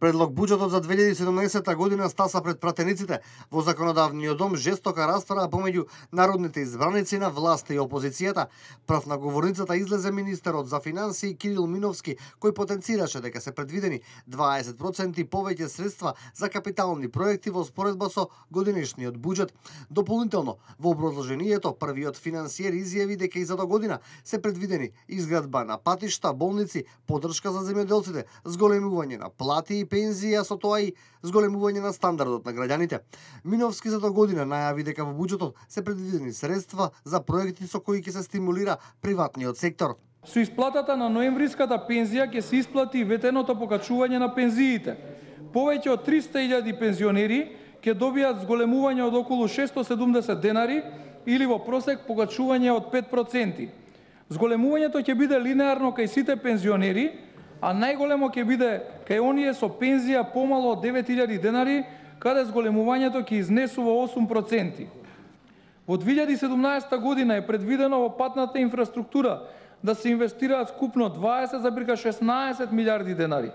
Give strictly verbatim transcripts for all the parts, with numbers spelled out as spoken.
Предлог буџетот за две илјади и седумнаесетта година стаса пред пратениците во законодавниот дом жестока расправа помеѓу народните избраници на власта и опозицијата. Прав на говорницата излезе министерот за финансии Кирил Миновски, кој потенцираше дека се предвидени дваесет проценти повеќе средства за капитални проекти во споредба со годинешниот буџет. Дополнително, во образложението првиот финансиер изјави дека и за до година се предвидени изградба на патишта, болници, поддршка за земјоделците, зголемување на плати и пензија, со тоа и зголемување на стандардот на граѓаните. Миновски за до година најави дека во буџетот се предвидени средства за проекти со кои ќе се стимулира приватниот сектор. Со исплатата на ноемвриската пензија ќе се исплати ветеното покачување на пензиите. Повеќе од триста илјади пензионери ќе добијат зголемување од околу шестстотини и седумдесет денари или во просек покачување од пет проценти. Зголемувањето ќе биде линеарно кај сите пензионери, а најголемо ќе биде кај оние со пензија помало од девет илјади денари, каде зголемувањето ќе изнесува осум проценти. Во две илјади и седумнаесетта година е предвидено во патната инфраструктура да се инвестираат скупно дваесет зарез шеснаесет милијарди денари.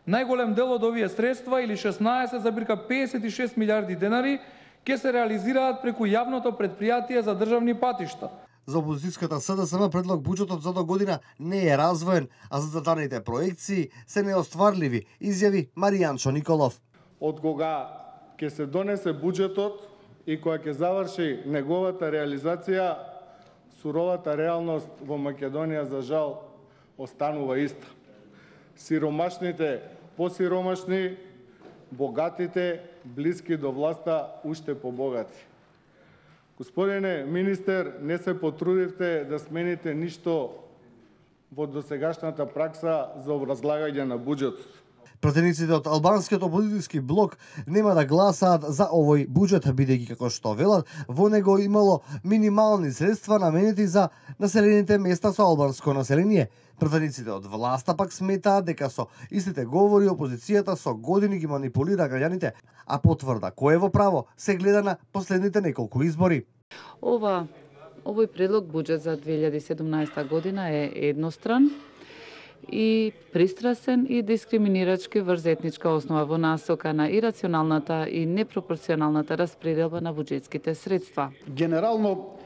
Најголем дел од овие средства, или шеснаесет зарез педесет и шест милијарди денари, ќе се реализираат преку јавното предпријатие за државни патишта. За опозицијската СДСМ предлог буџетот за до година не е развоен, а зададените проекции се неостварливи, изјави Маријанчо Николов. Од кога ќе се донесе буџетот и кога ќе заврши неговата реализација, суровата реалност во Македонија за жал останува иста. Сиромашните посиромашни, богатите блиски до власта уште побогати. Господине министер, не се потрудивте да смените ништо во досегашната пракса за образлагање на буџетот. Пратениците од албанскиот опозицијски блок нема да гласаат за овој буџет, бидејќи како што велат, во него имало минимални средства наменети за населените места со албанско население. Пратениците од власта пак сметаат дека со истите говори опозицијата со години ги манипулира граѓаните, а потврда кој е во право се гледа на последните неколку избори. Ова овој предлог буџет за две илјади и седумнаесетта година е едностран и пристрасен и дискриминирачки врз етничка основа во насока на ирационалната и непропорционалната распределба на буџетските средства. Генерално,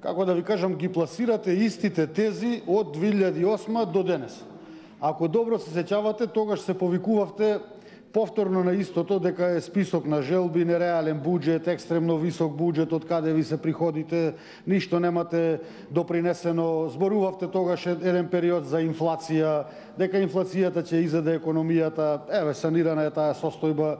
како да ви кажам, ги пласирате истите тези од две илјади и осма до денес. Ако добро се сеќавате, тогаш се повикувавте повторно на истото, дека е список на желби, нереален буџет, екстремно висок буџет, од каде ви се приходите, ништо немате допринесено. Зборувавте тогаш еден период за инфлација, дека инфлацијата ќе изеде економијата, еве санирана е таа состојба.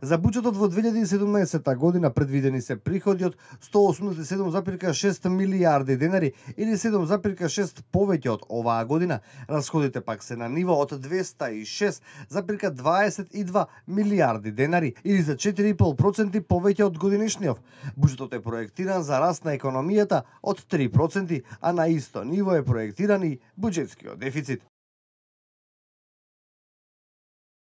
За буџетот во две илјади и седумнаесетта година предвидени се приходи од сто осумдесет и седум зарез шест милијарди денари или седум зарез шест повеќе од оваа година. Расходите пак се на ниво од двеста и шест зарез дваесет и два милијарди денари или за четири и пол проценти повеќе од годинешниот. Буџетот е проектиран за раст на економијата од три проценти, а на исто ниво е проектиран и буџетскиот дефицит.